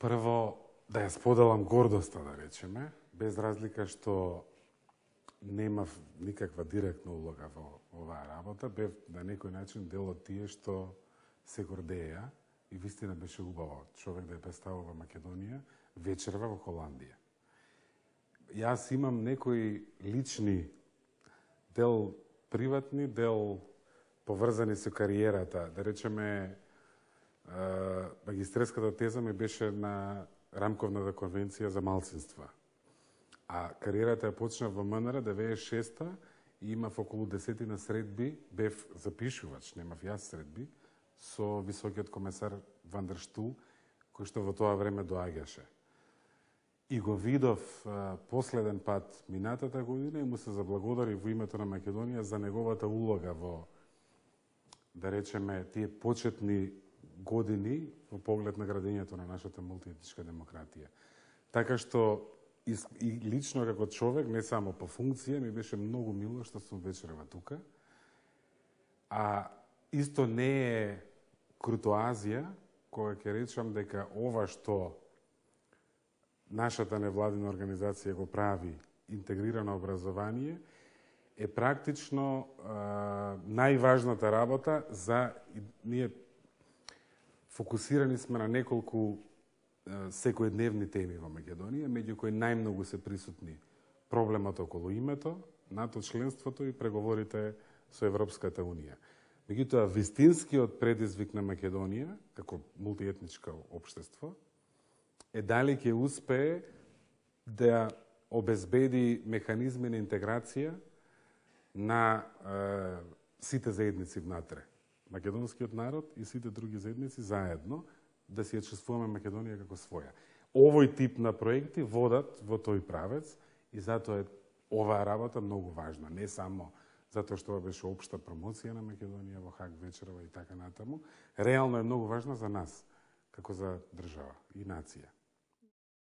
Прво, да ја споделам гордоста, да речеме, без разлика што немав никаква директна улога во оваа работа, бев на некој начин дел од тие што се гордеја и вистина беше убаво човек да ја представува Македонија вечерва во Холандија. Јас имам некои лични, дел приватни, дел поврзани со кариерата. Да речеме, магистерската теза ми беше на Рамковната конвенција за малцинства. А кариерата ја почнав во МНР 96-та и имав околу 10 средби, бев запишувач, немав јас средби, со високиот комесар Ван дер Штул, кој што во тоа време доаѓаше. И го видов последен пат минатата година и му се заблагодари во името на Македонија за неговата улога во, да речеме, тие почетни години во поглед на градењето на нашата мултиетничка демократија. Така што и лично како човек, не само по функција, ми беше многу мило што сум вечерва тука. А исто не е крутоазија кога ќе речам дека ова што нашата невладина организација го прави, интегрирано образование, е практично најважната работа за ние фокусирани сме на неколку секојдневни теми во Македонија, меѓу кои најмногу се присутни проблемот околу името, НАТО членството и преговорите со Европската Унија. Меѓутоа, вистинскиот предизвик на Македонија, како мултиетничко општество, е дали ќе успее да обезбеди механизми на интеграција на сите заедници внатре. Македонскиот народ и сите други заедници заедно да си ја чувствуваме Македонија како своја. Овој тип на проекти водат во тој правец и затоа е оваа работа многу важна. Не само затоа што беше општа промоција на Македонија во Хаг вечерва и така натаму. Реално е многу важна за нас, како за држава и нација.